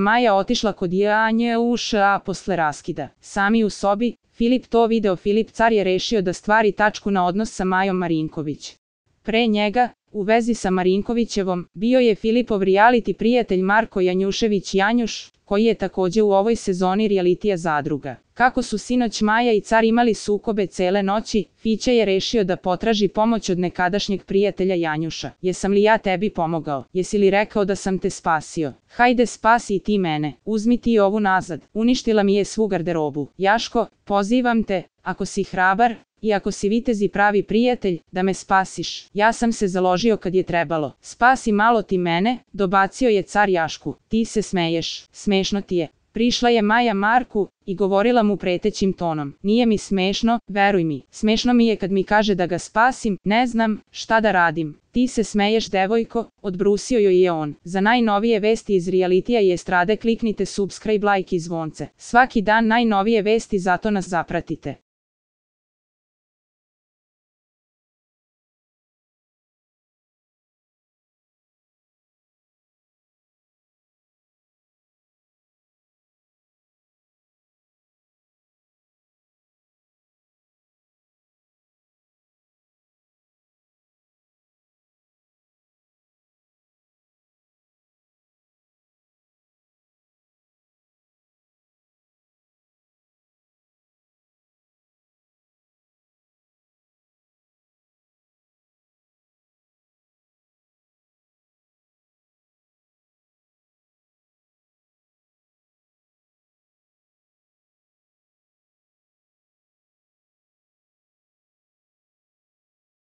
Maja otišla kod Janjuša posle raskida. Sami u sobi, Filip to video. Filip car je rešio da stvari tačku na odnos sa Majom Marinković. Pre njega, u vezi sa Marinkovićevom, bio je Filipov reality prijatelj Marko Janjušević Janjuš, koji je takođe u ovoj sezoni realitija Zadruga. Kako su sinoć Maja i car imali sukobe cele noći, Fića je rešio da potraži pomoć od nekadašnjeg prijatelja Janjuša. Jesam li ja tebi pomogao? Jesi li rekao da sam te spasio? Hajde spasi i ti mene, uzmi ti ovu nazad, uništila mi je svu garderobu. Jaško, pozivam te, ako si hrabar, i ako si vitez i pravi prijatelj, da me spasiš. Ja sam se založio kad je trebalo. Spasi malo ti mene, dobacio je car Jašku. Ti se smeješ, smešno ti je. Prišla je Maja Marku i govorila mu pretećim tonom. Nije mi smešno, veruj mi. Smešno mi je kad mi kaže da ga spasim, ne znam šta da radim. Ti se smeješ, devojko, odbrusio joj je on. Za najnovije vesti iz realitija i estrade kliknite subscribe, like i zvonce. Svaki dan najnovije vesti, zato nas zapratite.